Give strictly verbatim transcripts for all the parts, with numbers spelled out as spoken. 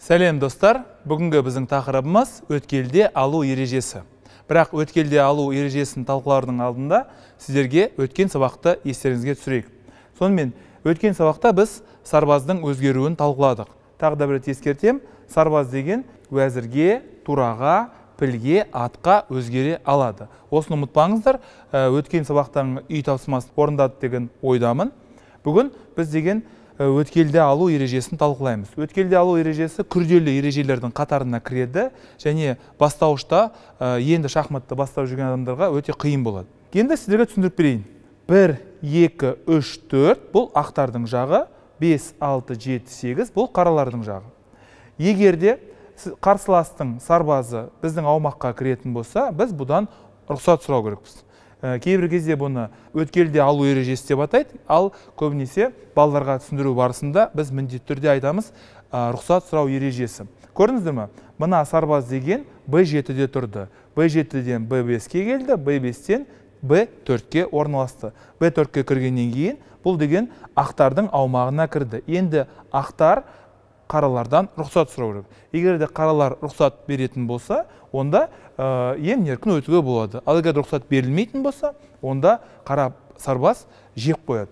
Сәлем достар, бүгінгі біздің тақырыбымыз өткелде алу ережесі. Бірақ өткелде алу ережесін талқылаудың алдында сіздерге өткен сабақты естеріңізге түсірейік. Сонымен, өткен сабақта біз сарбаздың өзгеруін талқыладық. Тағы да бір рет ескертем, сарбаз деген уәзірге, тураға, пілге, атқа өзгере алады. Осыны ұмытпаңыздар, өткен сабақтың үй тапсырмасын орындады деген ойдамын. Бүгін біз деген өткелде алу ережесін талқылаймыз. Өткелде алу ережесі күрделі ережелердің қатарына кіреді және бастауышта енді шахматты бастап жүрген адамдарға өте қиын болады. Енді сіздерге түсіндіріп берейін. бір, екі, үш, төрт бұл ақтардың жағы, бес, алты, жеті, сегіз бұл қаралардың жағы. Егерде қарсыластың сарбазы біздің аумаққа кіретін болса, біз бұдан рұқсат сұрау керекпіз. Кейбір кезде бұны өткелде алу ережесі деп атайды, ал көбінесе балаларға түсіндіру барысында біз міндетті түрде айтамыз рұқсат сұрау ережесі. Көрдіңіздер ме? Мына сарбаз деген бэ жетіде тұрды. бэ жетіден бэ беске келді, бэ бестен бэ төртке орналасты. бэ төртке кіргеннен кейін бұл деген ақтардың аумағына кірді. Енді ақтар қаралардан рұқсат сұрау керек. Егер де қаралар рұқсат беретін болса, онда ең еркін өтуге болады. Ал егер рұқсат берілмейтін болса, онда қара сарбаз жеп қояды.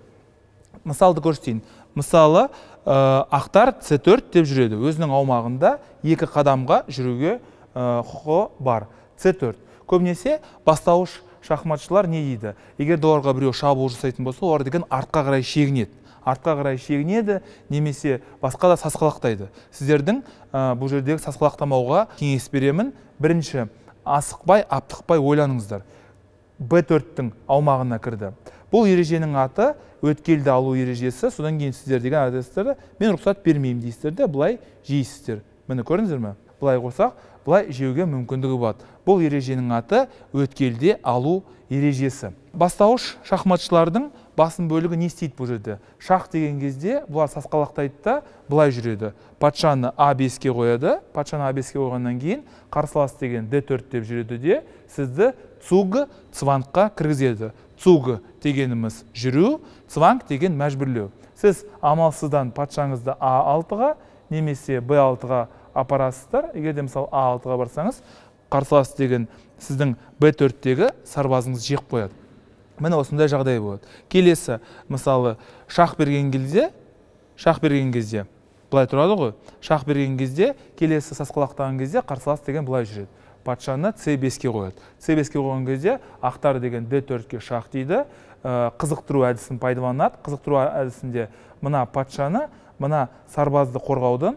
Мысалды көрсетейін. Мысалы, ақтар це төрт деп жүреді. Өзінің аумағында екі қадамға жүруге құқы бар. це төрт. Көбінесе бастауыш шахматшылар не дейді? Егер оларға біреу шабуыл жасайтын болса, олар деген артқа қарай шегінеді. Артқа қарай шегінеді, немесе басқа да сасқалақтайды. Сіздердің бұл жердегі сасқалақтамауға кеңес беремін. Бірінші, асықпай, аптықпай ойланыңыздар. бэ төрттің аумағына кірді. Бұл ереженің аты өткелді алу ережесі. Содан кейін сіздер деген адресстерді мен рұқсат бермеймін дейсіздер де, бұлай жейсіздер. Міне көрдіңіздер ме? Бұлай қойсақ, бұлай жеуге мүмкіндігі болады. Бұл ереженің аты өткелде алу ережесі. Бастауыш шахматшылардың басым бөлігі не істейді бұл жерде? Шах деген кезде бұлар сасқалақтайды да бұлай жүреді. Патшаны а беске қояды. Патшаны а беске қойғаннан кейін қарсылас деген дэ төрт деп жүреді де сізді цуг цвангқа кіргізеді. Цуг дегеніміз жүру, цванг деген мәжбүрлеу. Сіз амалсыздан патшаңызды а алтыға немесе бэ алтыға апарасыздар. Егер де мысалы а алтыға барсаңыз, қарсылас деген сіздің бэ төрттегі сарбазыңыз жеп қояды. Міне осындай жағдай болады. Келесі, мысалы, шах берген кезде, шах берген кезде, бұлай тұрады ғой, шах берген кезде, келесі сасқалақтаған кезде қарсылас деген бұлай жүреді. Патшаны це беске қояды. це беске қойған кезде ақтар деген дэ төртке шах дейді. Қызықтыру әдісін пайдаланады. Қызықтыру әдісінде мына патшаны, мына сарбазды қорғаудың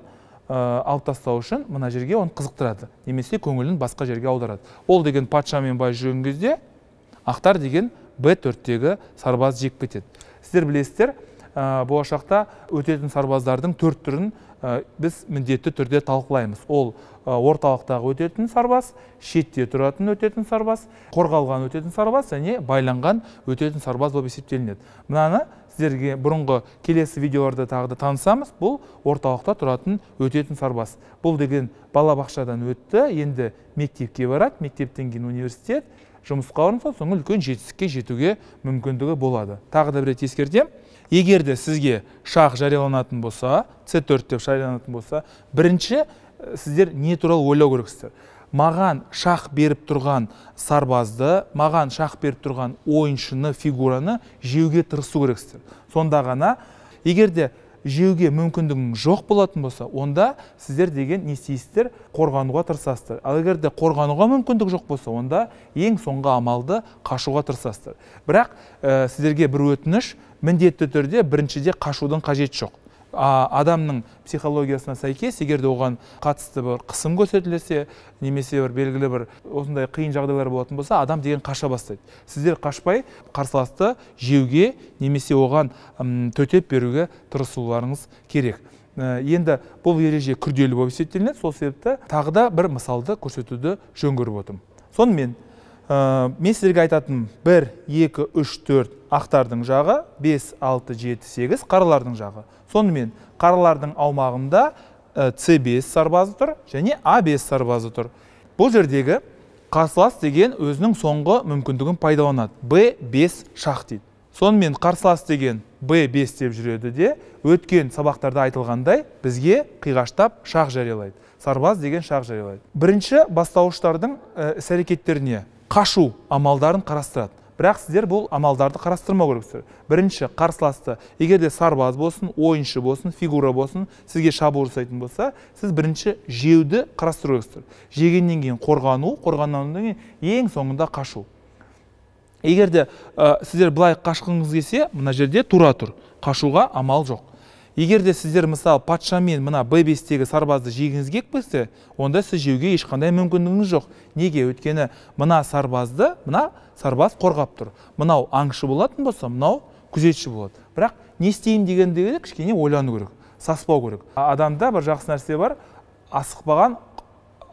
алып тастау үшін мына жерге оны қызықтырады. Немесе көңілін басқа жерге аударады. Ол деген патшамен бай жүрген кезде ақтар деген бэ төрттегі сарбаз жек кетеді. Сіздер білесіздер, болашақта өтетін сарбаздардың төрт түрін біз міндетті түрде талқылаймыз. Ол орталықтағы өтетін сарбаз, шетте тұратын өтетін сарбаз, қорғалған өтетін сарбаз және байланған өтетін сарбаз болып есептелінеді. Мынаны сіздерге бұрынғы келесі видеоларда тағы да танысамыз. Бұл орталықта тұратын өтетін сарбаз. Бұл деген балабақшадан өтті, енді мектепке барады, мектептен кейін университет, жұмысқа орынса, соңы үлкен жетістікке жетуге мүмкіндігі болады. Тағы да бір рет ескертем. Егерде сізге шах жарияланатын болса, це төрт деп жарияланатын болса, бірінші сіздер не туралы ойлау керексіздер. Маған шах беріп тұрған сарбазды, маған шах беріп тұрған ойыншыны, фигураны жеуге тырысу керексіздер. Сонда ғана, егерде жеуге мүмкіндігің жоқ болатын болса, онда сіздер деген не істейсіздер? Қорғануға тырысасыздар. Ал егер де қорғануға мүмкіндік жоқ болса, онда ең соңғы амалды қашуға тырысасыздар. Бірақ сіздерге бір өтініш, міндетті түрде біріншіде қашудың қажеті жоқ. Адамның психологиясына сәйкес, егер де оған қатысты бір қысым көрсетілсе, немесе бір белгілі бір осындай қиын жағдайлар болатын болса, адам деген қаша бастайды. Сіздер қашпай қарсыласты жеуге немесе оған төтеп беруге тырысуларыңыз керек. Енді бұл ереже күрделі болып есептелінеді, сол себепті тағы да бір мысалды көрсетуді жөн көріп отырмын. Сонымен мен сіздерге айтатын бір, екі, үш, төрт ақтардың жағы, бес, алты, жеті, сегіз қаралардың жағы. Сонымен қаралардың аумағында це бес сарбазы тұр және а бес сарбазы тұр. Бұл жердегі қарсылас деген өзінің соңғы мүмкіндігін пайдаланады. бэ бес шах дейді. Сонымен қарсылас деген бэ бес деп жүреді де, өткен сабақтарда айтылғандай бізге қиғаштап шақ жариялайды. Сарбаз деген шақ жариялайды. Бірінші бастауыштардың іс-әрекеттеріне қашу амалдарын қарастырады. Бірақ сіздер бұл амалдарды қарастырмау керексіздер. Бірінші, қарсыласты, егер де сарбаз болсын, ойыншы болсын, фигура болсын, сізге шабуыл жасайтын болса, сіз бірінші жеуді қарастыру керексіздер. Жегеннен кейін қорғану, қорғаннан кейін ең соңында қашу. Егер де ә, сіздер былай қашқыңыз келсе, мына жерде тура тұр. Қашуға амал жоқ. Егер де сіздер мысалы патшамен мына бэ бестегі сарбазды жегіңіз келіп кетсе, онда сіз жеуге ешқандай мүмкіндігіңіз жоқ. Неге? Өйткені мына сарбазды мына сарбаз қорғап тұр. Мынау аңшы болатын болса, мынау күзетші болады. Бірақ не істеймін дегендегі кішкене ойлану керек, саспау керек. Адамда бір жақсы нәрсе бар, асықпаған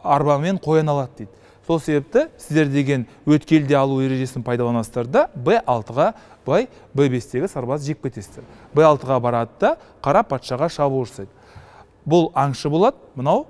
арбамен қоян алады дейді. Сол себепті сіздер деген өткелде алу ережесін пайдаланасыздар да бэ алтыға былай бэ бестегі сарбаз жеп кетесіздер. бэ алтыға барады да қара патшаға шабуыл жасайды. Бұл аңшы болады, мынау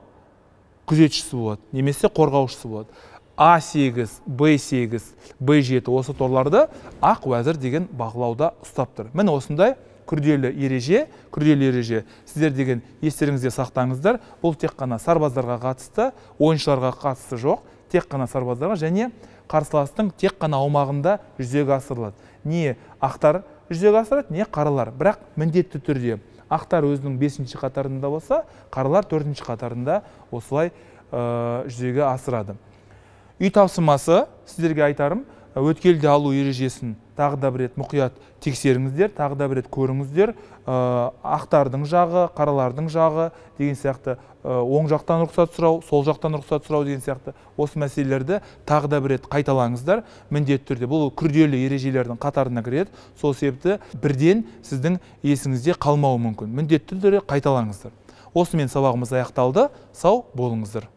күзетшісі болады, немесе қорғаушысы болады. а сегіз, бэ сегіз, бэ жеті осы торларды ақ уәзір деген бақылауда ұстап тұр. Міне осындай күрделі ереже, күрделі ереже. Сіздер деген естеріңізде сақтаңыздар. Бұл тек қана сарбаздарға қатысты, ойыншыларға қатысты жоқ. Тек қана сарбаздарға және қарсыластың тек қана аумағында жүзеге асырылады. Не ақтар жүзеге асырады, не қаралар. Бірақ міндетті түрде ақтар өзінің бесінші қатарында болса, қаралар төртінші қатарында осылай ә, жүзеге асырады. Үй тапсырмасы сіздерге айтарым, өткелде алу ережесін тағы да бір рет мұқият тексеріңіздер, тағы да бір рет көріңіздер. Ақтардың жағы, қаралардың жағы деген сияқты, оң жақтан рұқсат сұрау, сол жақтан рұқсат сұрау деген сияқты осы мәселелерді тағы да бір рет қайталаңыздар. Міндетті түрде бұл күрделі ережелердің қатарына кіреді. Сол себепті бірден сіздің есіңізде қалмауы мүмкін. Міндетті түрде қайталаңыздар. Осымен сабағымыз аяқталды. Сау болыңыздар.